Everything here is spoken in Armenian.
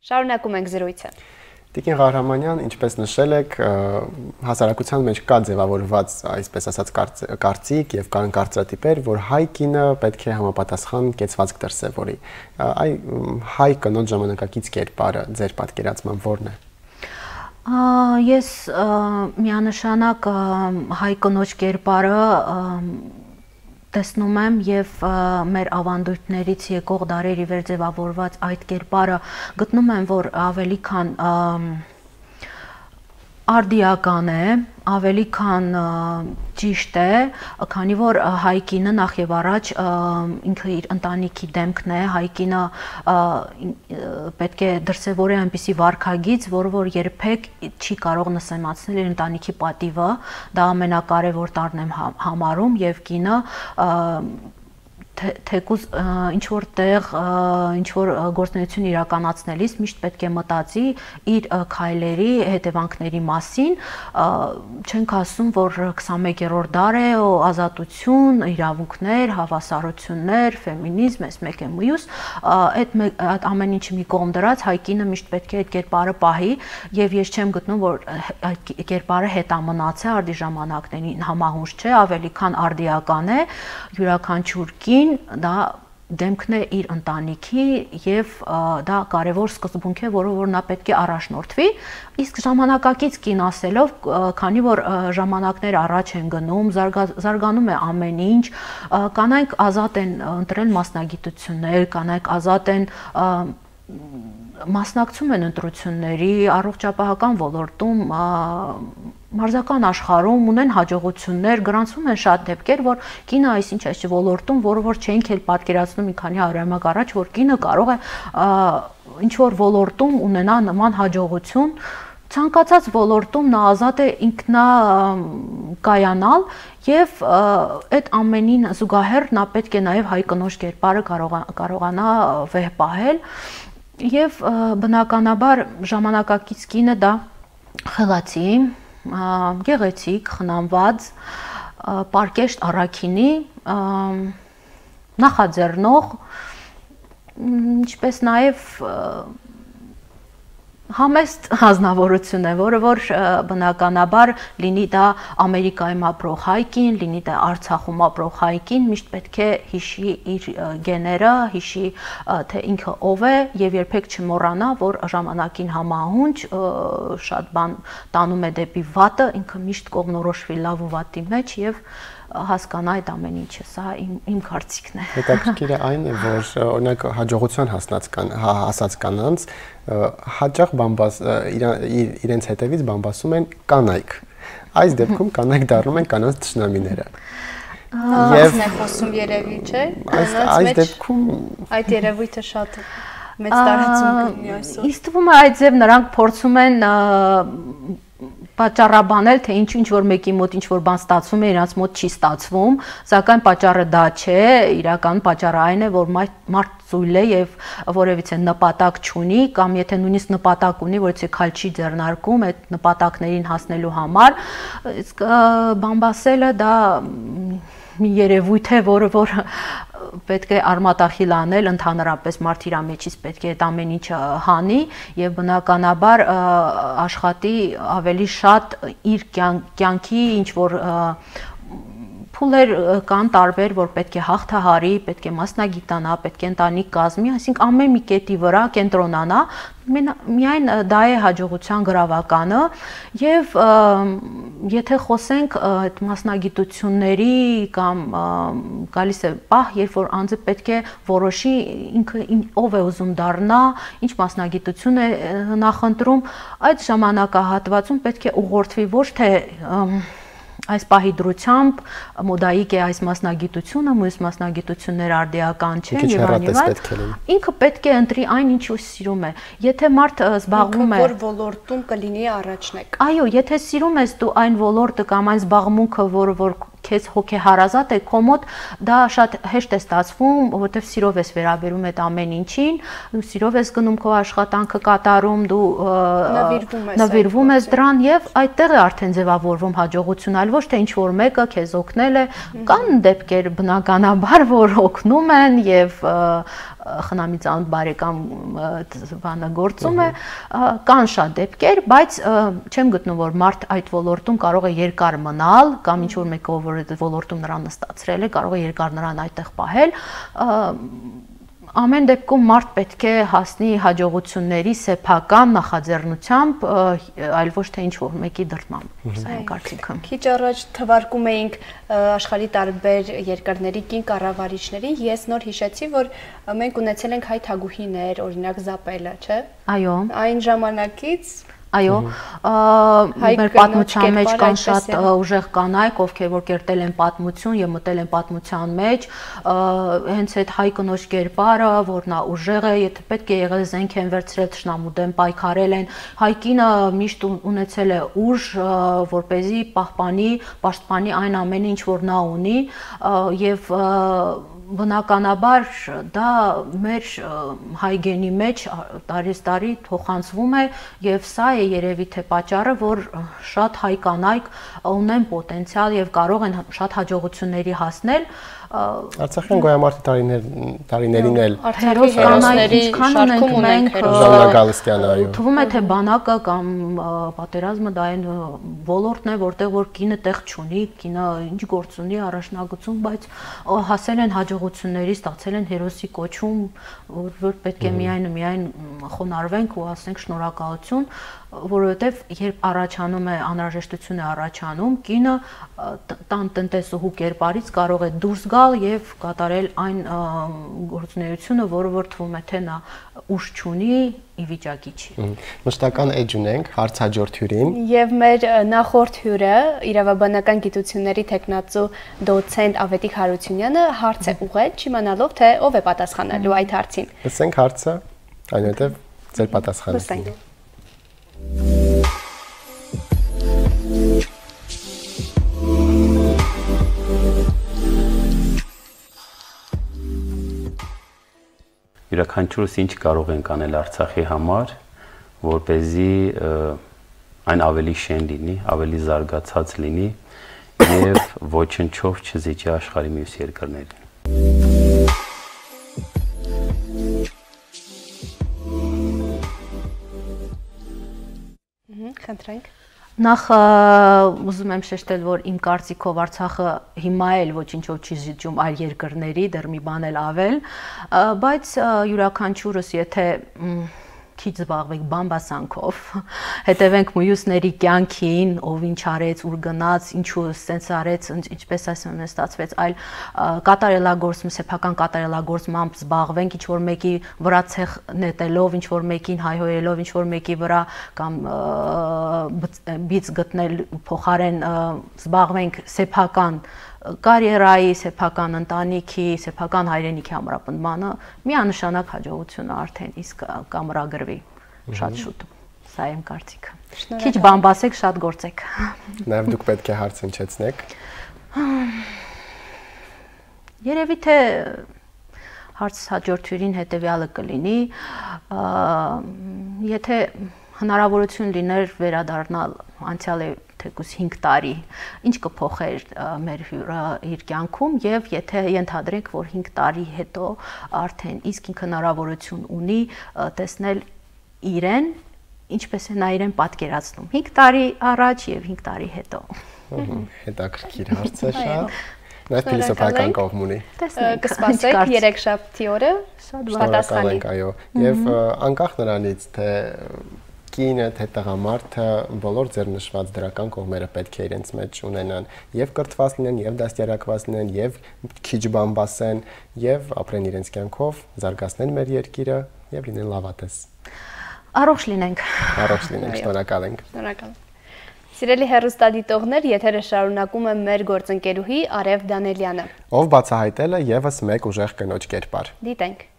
Շարունակում ենք զրույցը։ Տիկին Ղահրամանյան, ինչպես նշել եք, հասարակության մեջ կա ձևավորված, այսպես ասած, կարծիք եւ կան կարծրատիպեր, որ հայ կինը պետք է համապատասխան կեցվածք դրսևորի։ Այ հայ կնոջ ժամանակակից կերպարը ձեր պատկերացման ո՞րն է։ Ես միանշանակ հայ կնոջ կերպարը տեսնում եմ եւ մեր ավանդույթներից եկող դարերի վեր ձևավորված այդ կերպարը գտնում եմ, որ ավելի քան արդիական է, ավելի քան ճիշտ է, քանի որ հայ կինը նախ եւ առաջ ինքը իր ընտանիքի դեմքն է, հայ կինը պետք է դրսևորի այնպիսի վարքագիծ, որ երբեք չի կարող նսեմացնել իր ընտանիքի պատիվը, դա ամենակարևոր տարրն եմ համարում եւ կինը թեկուզ ինչ-որ տեղ, ինչ-որ գործունեություն իրականացնելիս միշտ պետք է մտածի իր քայլերի հետևանքների մասին, չենք ասում, որ 21-րդ դար է, ազատություն, իրավունքներ, հավասարություններ, ֆեմինիզմ, այս մեկ է մյուս, այդ ամեն ինչը մի կողմ դրած, հայ կինը միշտ պետք է այդ կերպարը պահի եւ ես չեմ գտնում, որ այդ կերպարը հետամնաց է արդի ժամանակներին, համահունչ չէ, ավելի քան արդիական է, յուրաքանչյուր կին դա դեմքն է իր ընտանիքի եւ դա կարեւոր սկզբունք է, որով նա պետք է առաջնորդվի, իսկ ժամանակակից կին ասելով, քանի որ ժամանակներ առաջ են գնում, զարգանում է ամեն ինչ, կանայք ազատ են ընտրել մասնագիտություններ, կանայք ազատ են մասնակցում են ընտրությունների, առողջապահական ոլորտում, մարզական աշխարհում ունեն հաջողություններ, գրանցվում են շատ դեպքեր, որ կինը այսինչ այս ոլորտում, որ չէինք էլ պատկերացնում մի քանի հարյուրամյակ առաջ, որ կինը կարող է ինչ-որ ոլորտում ունենա նման հաջողություն, ցանկացած ոլորտում նա ազատ է ինքնակայանալ եւ այդ ամենին զուգահեռ նա պետք է նաեւ հայ կնոջ կերպարը կարողանա վեհ պահել եւ բնականաբար ժամանակակից կինը դա խելացի, գեղեցիկ, խնամված, պարկեշտ առաքինի, նախաձեռնող, ինչպես նաեւ համեստ հանձնավորություն է, որը որ բնականաբար լինի դա Ամերիկայում ապրող հայ կին, լինի դա Արցախում ապրող հայ կին, միշտ պետք է հիշի իր գեները, հիշի թե ինքը ով է եւ երբեք չմոռանա, որ ժամանակին համահունչ շատ բան տանում է դեպի վատը, ինքը միշտ կողմնորոշվի լավ ու վատի մեջ եւ հասկանա այդ ամեն ինչը, սա իմ կարծիքն է։ Հետաքրքիրը այն է, որ օրինակ հաջողության հասած կանանց հաճախ իրենց հետևից բամբասում են կանայք։ Այս դեպքում կանայք դառնում են կանանց թշնամիները։ Եվ խոսում երևի, չէ՞։ Այս դեպքում այդ երևույթը շատ մեծ տարածում կունի այսօր։ Իսկ թվում է այդ ձև նրանք փորձում են պատճառաբանել, թե ինչ որ մեկի մոտ ինչ որ բան ստացվում է, իրանց մոտ չի ստացվում, սակայն պատճառը դա չէ, իրական պատճառը այն է, որ մարդ ծույլ է եւ որևիցե նպատակ չունի, կամ եթե նույնիսկ նպատակ ունի, որ եթե քայլ չի ձեռնարկում այդ նպատակներին հասնելու համար, իսկ բամբասելը դա մի երևույթ է, որ պետք է արմատախիլ անել, ընդհանրապես մարդ իր մեջից պետք է այդ ամեն ինչը հանի եւ բնականաբար աշխատի ավելի շատ իր կյանքի ինչ որ փուլեր կան տարբեր, որ պետք է հաղթահարի, պետք է մասնագիտանա, պետք է ընտանիք կազմի, այսինքն ամեն մի կետի վրա կենտրոնանա, միայն դա է հաջողության գրավականը եւ եթե խոսենք այդ մասնագիտությունների կամ գալիս է պահ, երբ որ անձը պետք է որոշի ինքը ով է ուզում դառնա, ինչ մասնագիտություն է նախընտրում, այդ ժամանակահատվածում պետք է ուղղորդվի ոչ թե այս պահի դրությամբ մոդայիկ է այս մասնագիտությունը, մյուս մասնագիտություններ արդիական չեն եւ այլն։ Ինքը պետք է ընտրի այն, ինչ ու սիրում է։ Եթե մարդ զբաղվում է որ ոլորտում կլինի առաջնեկ։ Այո, եթե սիրում ես դու այն ոլորտը կամ այն զբաղմունքը, որ քեզ հոգեհարազատ է, քո մոտ դա շատ հեշտ է ստացվում, որովհետև սիրով ես վերաբերում այդ ամեն ինչին, սիրով ես գնում քո աշխատանքը կատարում, դու նվիրվում ես դրան եւ այդտեղ է արդեն ձևավորվում հաջողություն, այլ ոչ թե ինչ որ մեկը քեզ օգնել է, կան դեպքեր բնականաբար, որ օգնում են եւ խնամիցան բարեկամ բանը գործում է, կան շատ դեպքեր, բայց չեմ գտնում, որ մարդ այդ ոլորտում կարող է երկար մնալ, կամ ինչ-որ մեկը, որ այդ ոլորտում նրան նստացրել է, կարող է երկար նրան այդտեղ պահել, ամեն դեպքում մարդ պետք է հասնի հաջողությունների սեփական նախաձեռնությամբ, այլ ոչ թե ինչ-որ մեկի դրդմամբ, սա իմ կարծիքը։ Քիչ առաջ թվարկում էինք աշխարհի տարբեր երկրների կին կառավարիչների, ես նոր հիշեցի, որ մենք ունեցել ենք հայ թագուհիներ, օրինակ Զապելը, չէ՞։ Այո։ Այն ժամանակից Այո, մեր պատմության մեջ կան շատ ուժեղ կանայք, ովքեր որ կերտել են պատմություն եւ մտել են պատմության մեջ, հենց այդ հայ կնոջ կերպարը, որ նա ուժեղ է, եթե պետք է եղել զենք են վերցրել, թշնամու դեմ պայքարել են, հայ կինը միշտ ունեցել է ուժ, որպեսզի պահպանի, պաշտպանի այն ամենը, ինչ որ նա ունի եւ բնականաբար դա մեր հայ գենի մեջ տարեց տարի փոխանցվում է եւ սա է երևի թե պատճառը, որ շատ հայ կանայք ունեն պոտենցիալ եւ կարող են շատ հաջողությունների հասնել Արցախյան գոյամարտի տարիներին էլ Արցախի հերոսների շարքում ունենք Ժաննա Գալստյանը, այո։ Թվում է թե բանակը կամ պատերազմը դա այն ոլորտն է, որտեղ որ կինը տեղ չունի, կինը ինչ գործ ունի, առաջնագծում, բայց հասել են հաջողությունների, ստացել են հերոսի կոչում, որ պետք է միայն խոնարհվենք ու ասենք շնորհակալություն, որովհետև երբ առաջանում է անհրաժեշտություն է առաջանում, կինը տան տնտեսուհու կերպարից կարող է դուրս գալ եւ կատարել այն գործունեությունը, որը որ թվում է թե նա ուժ չունի, ի վիճակի չի։ Մշտական էջ ունենք հարցաջորդ հյուրին։ Եվ մեր նախորդ հյուրը, իրավաբանական գիտությունների թեկնածու դոցենտ Ավետիք Հարությունյանը հարց է ուղղել, չիմանալով թե ով է պատասխանելու այդ հարցին։ Լսենք հարցը, այնուհետև ձեր պատասխանը։ Յուրաքանչյուրս ինչ կարող ենք անել Արցախի համար, որպեսզի այն ավելի շեն լինի, ավելի զարգացած լինի եւ ոչնչով չզիջի աշխարհի մյուս երկրներին։ Խնդրենք։ Նախ ուզում եմ շեշտել, որ իմ կարծիքով Արցախը հիմա էլ ոչինչով չի զիջում այլ երկրների, դեռ մի բան էլ ավել, բայց յուրաքանչյուրս եթե քիչ զբաղվենք բամբասանքով, հետևենք մյուսների կյանքին, ով ինչ արեց, ուր գնաց, ինչու սենց արեց, ինչպես ասում են ստացվեց, այլ կատարելագործում, սեփական կատարելագործմամբ զբաղվենք, ինչ որ մեկի վրա ցեխ նետելով, ինչ որ մեկին հայհոյելով, ինչ որ մեկի վրա կամ բիծ գտնել փոխարեն զբաղվենք սեփական կարիերայի, սեփական ընտանիքի, սեփական հայրենիքի ամրապնդմանը, միանշանակ հաջողությունը արդեն իսկ կամրագրվի շատ շուտ։ Սա իմ կարծիքը։ Քիչ բամբասեք, շատ գործեք։ Նաև դուք պետք է հարց հնչեցնեք։ Երևի թե հարց հաջորդ հյուրին հետևյալը կլինի, եթե հնարավորություն լիներ վերադառնալ անցյալի թեկուզ 5 տարի, ինչ կփոխեր մեր հյուրը իր կյանքում եւ եթե ենթադրենք, որ 5 տարի հետո արդեն իսկ ինքը հնարավորություն ունի տեսնել իրեն, ինչպես է նա իրեն պատկերացնում 5 տարի առաջ եւ 5 տարի հետո։ Հետաքրքիր հարց է շատ։ Նաև փիլիսոփայական կողմ ունի։ Կսպասեք երեքշաբթի օրը պատասխանի։ Այո, եւ անկախ նրանից թե կինը, թե տղամարդը բոլոր ձեռնշված դրական կողմերը պետք է իրենց մեջ ունենան եւ կրթված լինեն, եւ դաստիարակված լինեն, եւ քիչ բամբասեն, եւ ապրեն իրենց կյանքով, զարգացնեն մեր երկիրը եւ լինեն լավատես։ Առողջ լինենք։ Առողջ լինենք, շնորհակալ ենք։ Շնորհակալ։ Սիրելի հեռուստադիտողներ, եթերը շարունակում է մեր գործընկերուհի Արև Դանելյանը։ Ով բացահայտել է եւս մեկ ուժեղ կնոջ կերպար։ Դիտենք։